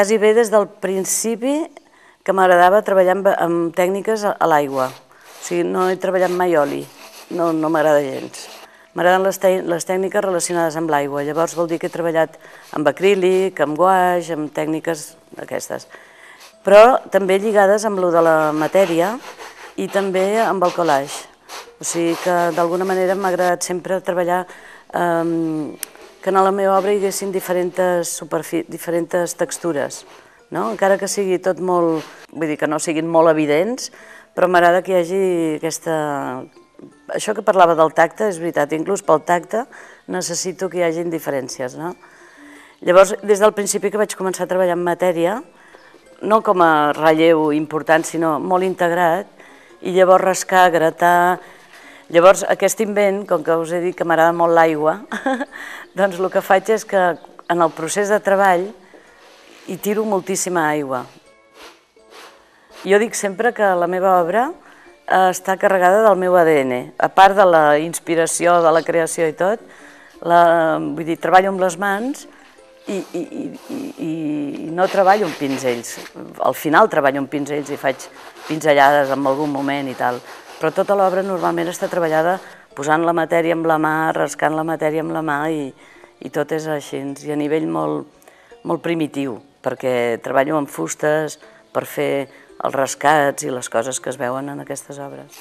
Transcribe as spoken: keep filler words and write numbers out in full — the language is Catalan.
quasi bé des del principi que m'agradava treballar amb, amb tècniques a, a l'aigua. O sigui, no he treballat mai oli, no, no m'agrada gens. M'agraden les, les tècniques relacionades amb l'aigua, llavors vol dir que he treballat amb acrílic, amb guaix, amb tècniques d'aquestes. Però també lligades amb lo de la matèria i també amb el collage. O sigui que d'alguna manera m'ha agradat sempre treballar eh, que en la meva obra hi haguessin diferents, diferents textures, no? Encara que sigui tot molt, vull dir que no siguin molt evidents, però m'agrada que hi hagi aquesta... Això que parlava del tacte és veritat, inclús pel tacte necessito que hi hagin diferències, no? Llavors, des del principi que vaig començar a treballar en matèria, no com a relleu important, sinó molt integrat, i llavors rascar, gratar... Llavors, aquest invent, com que us he dit que m'agrada molt l'aigua, doncs el que faig és que en el procés de treball hi tiro moltíssima aigua. Jo dic sempre que la meva obra està carregada del meu A D N. A part de la inspiració, de la creació i tot, vull dir, treballo amb les mans i, i, i, i no treballo amb pinzells. Al final treballo amb pinzells i faig pinzellades en algun moment i tal, però tota l'obra normalment està treballada posant la matèria amb la mà, rascant la matèria amb la mà i, i tot és així, i a nivell molt, molt primitiu, perquè treballo amb fustes per fer els rascats i les coses que es veuen en aquestes obres.